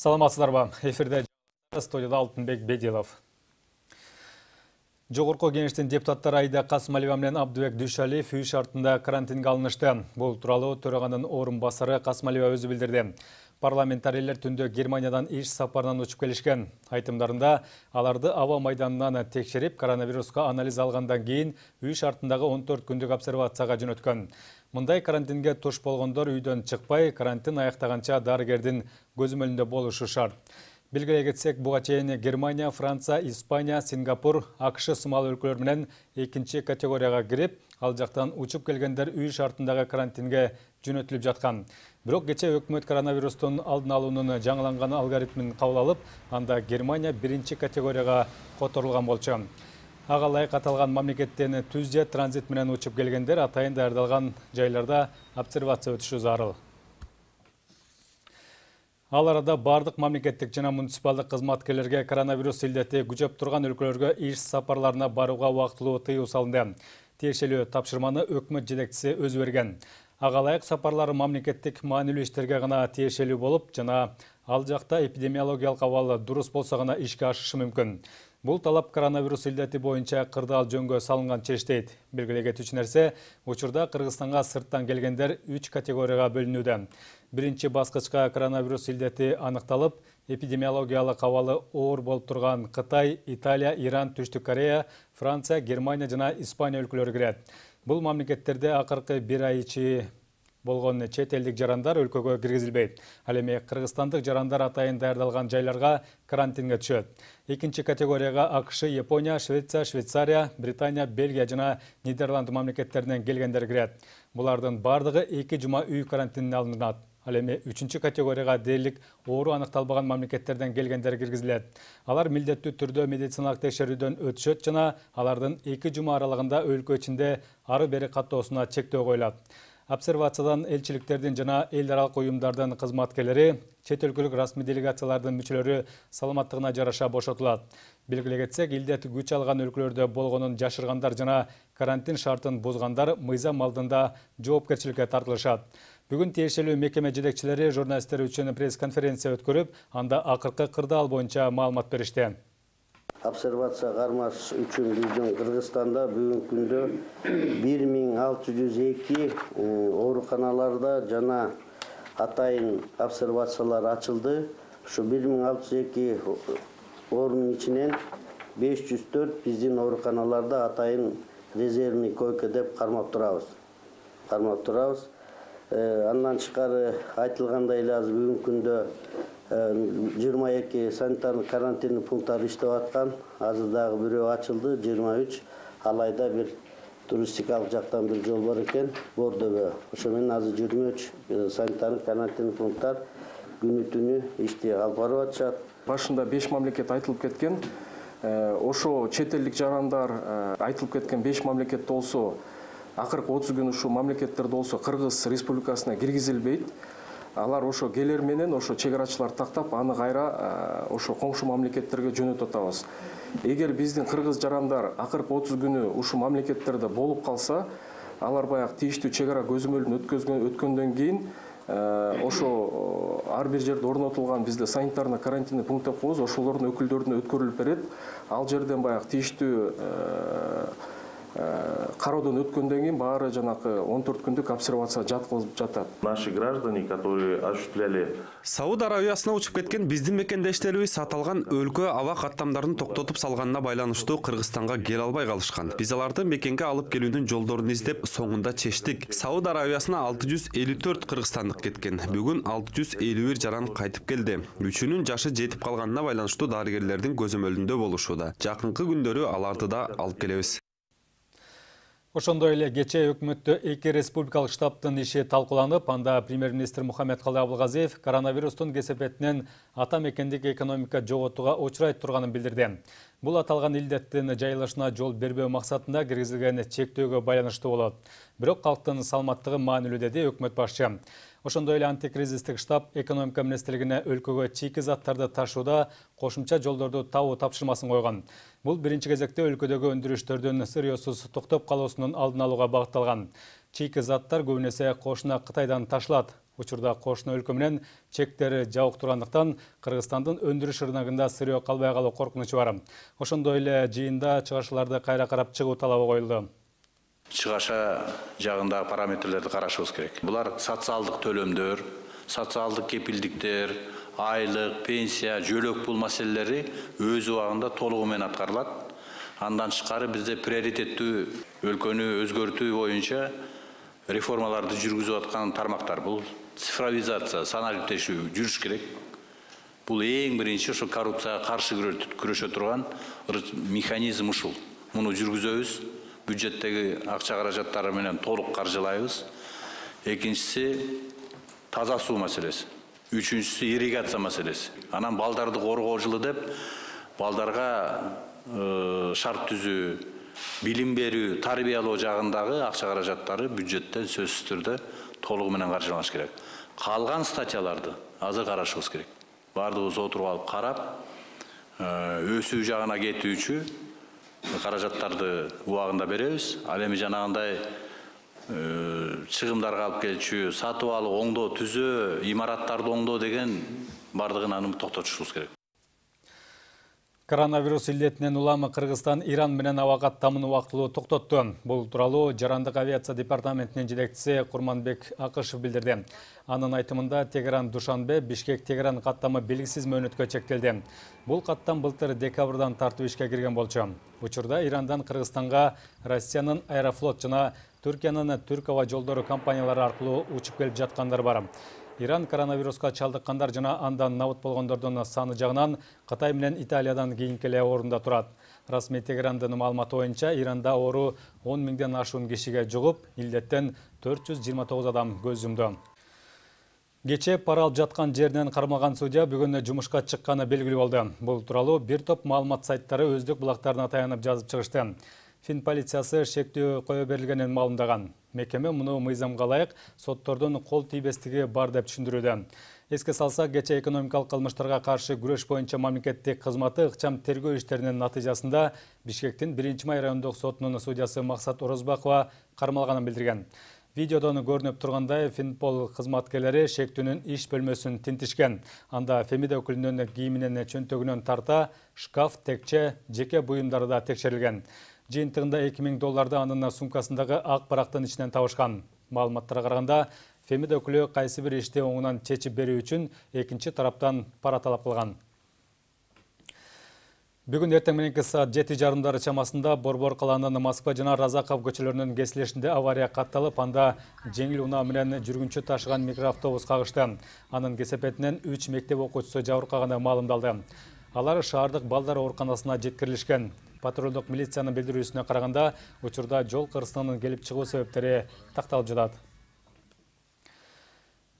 Саламатсыздарбы? Эфирде студияда Алтынбек Бедилов. Жогорку кеңештин депутаттары Айда Касымалиева менен Абдыбек Дүйшалиев үй шартында карантинге алынышты. Бул тууралуу төраганын орун басары Касымалиева өзү билдирди. Парламентарийлер түндө Германиядан иш сапарынан учуп келишкен. Айтымдарында аларды аба майданынан текшерип, коронавируска анализ алгандан кийин үй шартындагы 14 күндүк обсервацияга жөнөткөн. Мындай карантинге туш болгондор үйдөн чыкпай, карантин аяктаганча дарыгердин көзөмөлүндө болушу шарт. Белгилей кетсек, буга чейин Германия, Франция, Испания, Сингапур, АКШ сымал өлкөлөр менен экинчи категорияга кирип, ал жактан учуп келгендер үй шартындагы карантинге жөнөтүлүп жаткан. Бирок кече өкмөт коронавирустун алдын алуунун жаңыланган алгоритмин кабыл алып, анда Германия биринчи категорияга которулган болчу. Ага ылайык аталган мамлекеттен түз же транзит менен учуп келгендер атайын даярдалган жайларда обсервация өтүшү зарыл. Ал арада бардык мамлекеттик жана муниципалдык кызматкерлерге коронавирус илдети күчөп турган өлкөлөргө иш сапарларына барууга убактылуу тыюу салынды. Тиешелүү тапшырманы өкмөт жетекчиси өзү берген. Ага ылайык сапарлар мамлекеттик маанилүү иштерге гана тиешелүү болуп, жана ал жакта эпидемиологиялык абал дурус болсо гана ишке ашышы мүмкүн. Бул талап коронавирус илдети боюнча кырдаал жөнгө салынган чечтейт. Белгилей кетүүчү нерсе, учурда Кыргызстанга сырттан келгендер 3 категорияга бөлүнүүдө. Биринчи баскычка коронавирус илдети аныкталып, эпидемиологиялык абалы оор болуп турган Кытай, Италия, Иран, Түштүк Корея, Франция, Германия жана Испания өлкөлөрү кирет. Бул мамлекеттерде акыркы 1 ай ичи болгон чет элдик жарандар өлкөгө киргизилбейт. Ал эми кыргызстандык жарандар атайын даярдалган жайларга карантинге түшөт. Экинчи категорияга АКШ, Япония, Швеция, Швейцария, Британия, Бельгия жана Нидерланд мамлекеттеринен келгендер кирет. Булардын бардыгы 2 жума үй карантинине алынат. Ал эми 3-чү категорияга дээрлик оору аныкталбаган мамлекеттерден келгендер киргизилет. Алар милдеттүү түрдө медициналык текшерүүдөн өтүшөт жана алардын 2 жума аралыгында өлкө ичинде ары бери каттоосуна чектөө коюлат. Обсервациядан элчиликтердин жана эл аралык уюмдардын кызматкерлери, чет өлкөлүк расмий делегациялардын мүчөлөрү саламаттыгына жараша бошотулат. Белгилей кетсек, илдет күч алган өлкөлөрдө болгонун жашыргандар жана карантин шартын бузгандар мыйзам алдында жоопкерчиликке тартылышат. Бүгүн тиешелүү мекеме жетекчилери журналисттер үчүн пресс-конференция өткөрүп, анда акыркы кырдаал боюнча маалымат беришти. Обсервация кармаш үчүн биздин Кыргызстанда бүгүнкү күндө 1602 ооруканаларда жана атайын обсервациялар ачылды. Ушу 1602 орунун ичинен 504 биздин ооруканаларда атайын резервный койка деп кармап турабыз. Андан тышкары айтылгандай эле азыр бүгүнкү күндө 22 санитардык карантин пункттары иштеп аткан. Азыр дагы бирөө ачылды, 23. Алайда бир туристикалык жактан бир жол бар экен, Бордобо. Ошо менен азыр 23 санитардык карантин пункттар күнү-түнү ишти алып барып атышат. Башында 5 мамлекет айтылып кеткен. Ошо чет элдик жарандар айтылып кеткен 5 мамлекет болсо, акыркы 30 күн ушу мамлекеттерде болсо Кыргыз Республикасына киргизилбейт. Алар ошо келер менен ошо чегарачылар тактап, аны кайра ошо коңшу мамлекеттерге жөнөтүп атабыз. Эгер биздин кыргыз жарандар акыркы 30 күнү ушу мамлекеттерде болуп калса, алар баягы тийиштүү чегара көзөмөлүн өткөндөн кийин ошо ар бир жерде орнотулган бизде санитарный карантинный пункттер коебуз, ошолордун өкүлдөрүнө өткөрүлүп берет. Ал жерден баягы тийиштүү кароодон өткөндөн кийин баары жанакы 14 күндүк обсервация жаткызылып жатат. Наши граждане, которые осуществляли Сауд Арабиясына учуп кеткен биздин мекендештерибиз аталган өлкө аба каттамдарын токтотуп салганына байланыштуу Кыргызстанга келе албай калышкан. Биз аларды мекенге алып келүүнүн жолдорун издеп, соңунда чечтик. Сауд Арабиясына 654 кыргызстандык кеткен. Бүгүн 651 жаран кайтып келди. Үчүнүн жашы жетип калганына байланыштуу дарыгерлердин көзөмөлүндө болушууда. Жакынкы күндөрү аларды да алып келебиз. Ошондой эле кечээ өкмөттө 2 республикалык штабтын иши талкууланып, анда премьер-министр Мухаммедкалый Абылгазиев коронавирустун кесепетинен ата мекендик экономика жоготууга учурай турганын билдирди. Бул аталган илдеттин жайылышына жол бербөө максатында киргизилген чектөөгө байланыштуу болот. Бирок калктын саламаттыгы маанилүү, деди өкмөт башчы. Ошондой эле антикризистик штаб экономика министрлигине өлкөгө чийки заттарды ташууда кошумча жолдорду табуу тапшырмасын койгон. Бул биринчи кезекте өлкөдөгү өндүрүштөрдүн сырьёсуз токтоп калуусунун алдын алууга багытталган. Чийки заттар көбүнесе кошуна Кытайдан ташылат. Учурда кошуна өлкө менен чектери жабык тургандыктан Кыргызстандын өндүрүш рыногунда сырье калбай калуу коркунучу бар. Ошондой эле жыйында чыгашууларды кайра карап чыгуу талабы коюлду. Чыгаша жагындагы параметрлерди карашыбыз керек. Булар социалдык төлөмдөр, социалдык кепилдиктер, айлык, пенсия, жөлөк пул маселелери өз убагында толугу менен аткарылат. Андан тышкары бизде приоритеттүү өлкөнү өзгөртүү боюнча реформаларды жүргүзүп аткан тармактар. Бул цифровизация, саналиктешүү жүрүш керек. Бул эң биринчи ошо коррупцияга каршы күрөшө турган механизм ушул. Муну жүргүзөбүз. Бюджеттеги акча каражаттары менен толук каржылайбыз. Экинчиси таза суу маселеси. Үчүнчүсү ирригация маселеси. Анан балдарды коргоо жылы деп балдарга шарт түзүү, билим берүү, тарбиялоо жагындагы акча каражаттары бюджеттен сөзсүз түрдө толугу менен каржыланыш керек. Калган статьяларды азыр карашыбыз керек. Бардыгыбыз отуруп алып карап, өсүү жагына кетүүчү каражаттарды убагында беребиз. Ал эми жанагындай чыгымдарга алып келчү, сатып алып, оңдоо, түзөө, имараттарды оңдоо деген бардыгын аны токтотушубуз керек. Коронавирус илдетинен улам Кыргызстан Иран менен аба каттамын убактылуу токтотту. Бул тууралуу Жарандык авиация департаментинин жетекчиси Курманбек Акышев билдирди. Анын айтымында Тегеран-Душанбе, Бишкек-Тегеран каттамы белгисиз мөөнөткө чектелди. Бул каттам былтыр декабрдан тартып ишке кирген болчу. Учурда Ирандан Кыргызстанга Россиянын Аэрофлот жана Түркиянын Түрк аба жолдору компаниялары аркылуу учуп келип жаткандар бар. Иран коронавируска чалдыккандар жана андан набыт болгондордун саны жагынан Кытай менен Италиядан кийинки эле орунда турат. Расмий Тегерандын маалыматы боюнча Иранда оору 10 миңден ашуун кишиге жугуп, илдеттен 429 адам көз жумду. Кечээ пара алып жаткан жеринен кармалган судья бүгүн жумушка чыкканы белгилүү болду. Бул тууралуу бир топ маалымат сайттары өздүк булактарына таянып жазып чыгышты. Фин полициясы шектүү кое берилгенин маалымдаган. Мекеме муну мыйзамга ылайык соттордун кол тийбестиги бар деп түшүндүрүүдө. Эске салсак, кечээ экономикалык кылмыштарга каршы күрөш боюнча мамлекеттик кызматы ыкчам тергөө иштеринин натыйжасында Бишкектин 1-май райондук сотунун судьясы Максат Орозбакова кармалганын билдирген. Видеодон көрүнүп тургандай, Финпол кызматкерлери шектүүнүн иш бөлмөсүн тинтишкен. Анда Фемида өкүлүнүн кийиминен чөнтөгүнөн тарта, шкаф, текче, жеке буюмдары да текшерилген. Жыйынтыгында $2000 анын сумкасындагы ак барактын ичинен табышкан. Маалыматтарга караганда, Фемида өкүлү кайсы бир ишти оңунан чечип берүү үчүн экинчи тараптан пара талап кылган. Бүгүн эртең мененки саат 7:30 чамасында Борбор калаанын Москва жана Разаков көчөлөрүнүн кесилишинде авария катталып, анда жеңил унаа менен жүргүнчү ташыган микроавтобус кагышты. Анын кесепетинен 3 мектеп окуучусу жабыркаганы маалымдалды. Алар шаардык балдар ооруканасына жеткирилишкен. Патрулдук милициянын билдирүүсүнө караганда, учурда жол кырсыгынын келип чыгуу себептери такталып жатат.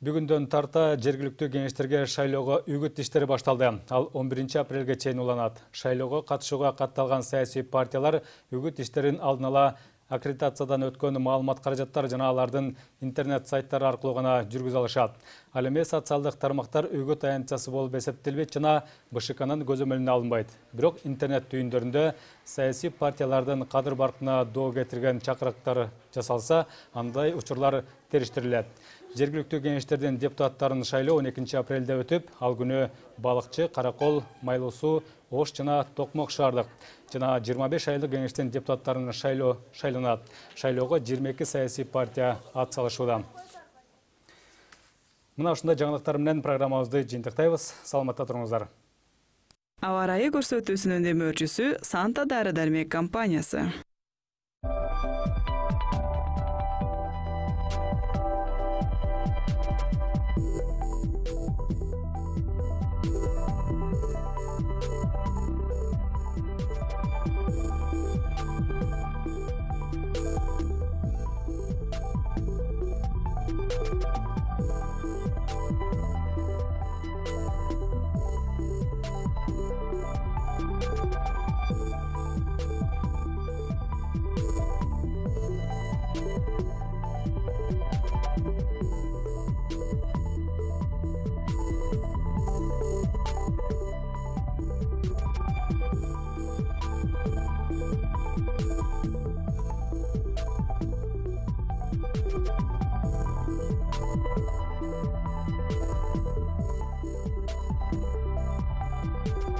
Бүгүндөн тарта жергиликтүү кеңештерге шайлоого үгүт иштери башталды. Ал 11 апрелге чейин уланат. Шайлоого катышууга катталган саясий партиялар үгүт иштерин алдын ала аккредитациядан өткөн маалымат каражаттар жана алардын интернет сайттары аркылуу гана жүргүзө алышат. Ал эми социалдык тармактар үгүт аянтчасы болуп эсептелбейт жана БШКнын көзөмөлүнө алынбайт. Бирок интернет түйүндөрүндө саясий партиялардын кадыр баркына доо кетирген чакырыктар жасалса, андай учурлар териштирилет. Жергиликтүү кеңештердин депутаттарын шайлоо 12 апрелде өтүп, ал күнү Балыкчы, Каракол, Майлуу суу, Ош жана Токмок шаардык жана 25 айлык кеңештин депутаттарын шайланат. Шайлоого 22 саясий партия ат салышууда. Мына ушундай жаңылыктар менен программабызды жыйынтыктайбыз. Саламатта туруңуздар. Аба ырайы көрсөтүүсүнүн демөөрчүсү Санта дары-дармек компаниясы. болду.